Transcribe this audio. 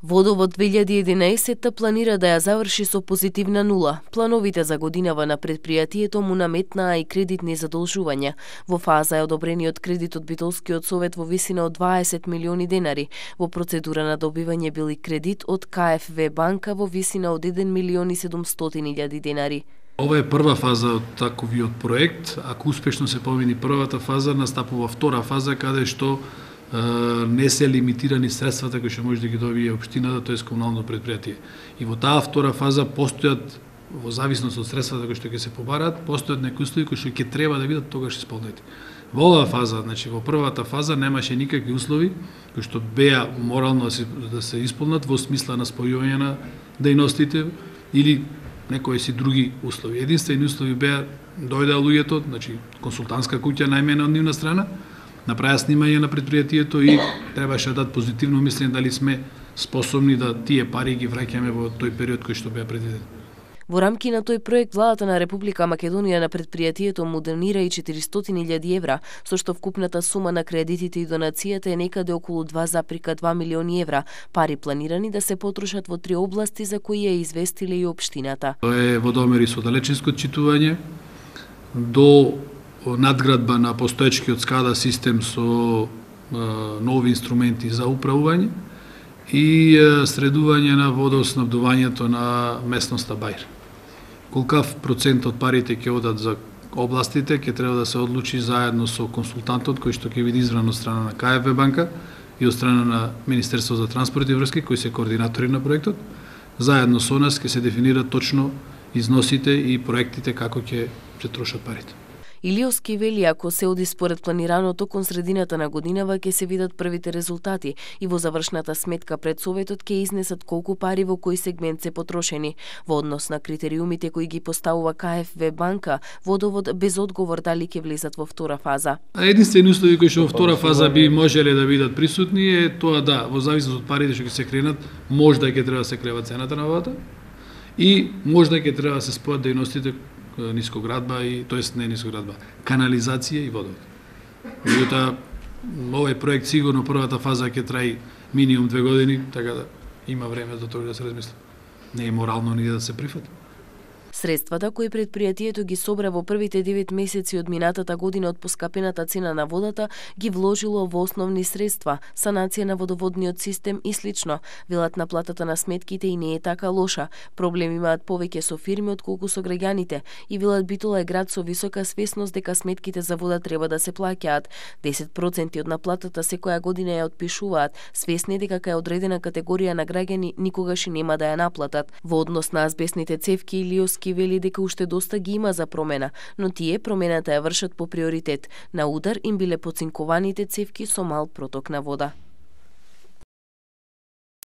Водовод 2011 планира да ја заврши со позитивна нула. Плановите за годинава на предпријатието му наметнаа и кредитни задолжувања. Во фаза е одобрениот кредит од Битолскиот совет во висина од 20 милиони денари. Во процедура на добивање бил и кредит од КФВ банка во висина од 1 милион и 700.000 денари. Ова е прва фаза од таковиот проект. Ако успешно се помини првата фаза, настапува втора фаза каде што не се лимитирани средствата кои што може да ги добие општината, тоа е комунално предпријатие. И во таа втора фаза постојат, во зависност од средствата кои што ќе се побараат, постојат некои услови кои што ќе треба да бидат тогаш исполнети. Во оваа фаза, значи во првата фаза немаше никакви услови кои што беа морално да се исполнат во смисла на спојување на дејностите или некои си други услови. Единствени услови беа дојдеа луѓето, значи консултантска куќа најмена од нивна страна, направија снимање на предпријатието и требаше да дадат позитивно мислење дали сме способни да тие пари ги враќаме во тој период кој што беа предвидени. Во рамки на тој проект, владата на Република Македонија на предпријатието му донира и 400.000 евра, со што вкупната сума на кредитите и донацијата е некаде околу 2,2 милиони евра, пари планирани да се потрошат во 3 области за кои ја известиле и општината. Тоа е водомери со далечинско читување, до надградба на постоечкиот SCADA систем со нови инструменти за управување и средување на водоснабдувањето на местноста Бајр. Колкав процент од парите ќе одат за областите, ќе треба да се одлучи заедно со консултантот кој што ќе биде избран од страна на КФВ банка и од страна на Министерство за транспорт и врски, кои се координатори на проектот. Заедно со нас ќе се дефинираат точно износите и проектите како ќе се трошат парите. Илиовски вели, ако се оди според планираното, кон средината на годинава ќе се видат првите резултати и во завршната сметка пред Советот ќе изнесат колку пари во кој сегмент се потрошени. Во однос на критериумите кои ги поставува КФВ банка, водовод без одговор дали ќе влезат во втора фаза. Единствени услови кои што во втора фаза би можеле да бидат присутни е тоа да, во зависност од парите што ќе се кренат, можда ќе треба да се крива цената на водата и можда ќе треба да се спојат дејностите нискоградба и тоест не нискоградба, канализација и водовод. Меѓутоа, овој проект сигурно првата фаза ќе траи минимум 2 години, така да има време до тоа да се размисли. Не е морално ни да се прифати. Средствата кои предпријатието ги собра во првите 9 месеци од минатата година од поскапената цена на водата ги вложило во основни средства, санација на водоводниот систем и слично. Велат наплатата на сметките и не е така лоша. Проблем имаат повеќе со фирми отколку со граѓаните и велат Битола е град со висока свесност дека сметките за вода треба да се плаќаат. 10% од наплатата секоја година ја отпишуваат, свесни дека кај одредена категорија на граѓани никогаш и нема да ја наплатат. Во однос на азбестните цевки Илиовски вели дека уште доста ги има за промена, но тие промената ја вршат по приоритет. На удар им биле поцинкованите цевки со мал проток на вода.